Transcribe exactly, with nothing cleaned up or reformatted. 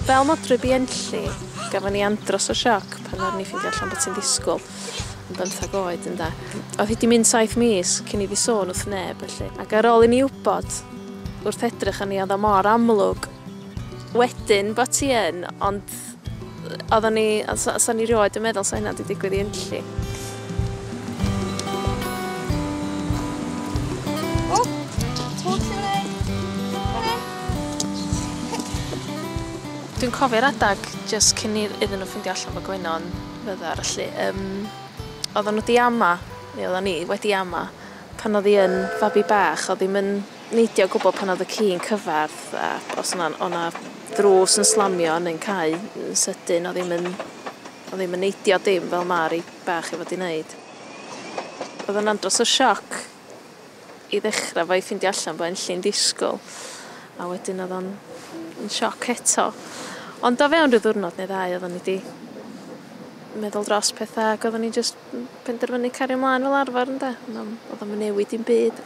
Fel modryb i Enlli, gafon ni andros o sioc pan oedden ni ffeindio allan bod ti'n ddisgwyl yn bymthag oed, ynda. Oedd hi 'di mynd saith mis cyn iddi sôn wrth neb, felly. Ac ar ôl i ni wybod, wrth edrych arni, oedd o mor amlwg wedyn bod ti yn, ond oedden ni, sa ni rioed yn meddwl sa hynna 'di digwydd i Enlli. O! Twll i fyny! Dwi'n cofio'r adag jyst cyn iddyn nhw ffeindio allan bod Gwenno'n fyddar, felly. Um, oedden nhw 'di ama, neu oedden ni wedi ama, pan oedd hi yn fabi bach, oedd ddim yn neidio o gwbl pan oedd y ci'n cyfarth, a os o'na, o'na ddrws yn slamio neu'n cau yn sydyn, oedd ddim yn, oedd ddim yn neidio dim fel Mari bach i fod i wneud. Oedd yn andros o sioc i ddechrau fo i ffeindio allan bod Enlli'n disgwyl, a wedyn oedd o'n yn sioc eto. Ond o fewn rhyw ddiwrnod neu ddau oedden ni 'di meddwl dros pethau ac oedden ni jyst penderfynu cario ymlaen fel arfer, ynde? Oedd o'm yn newid dim byd.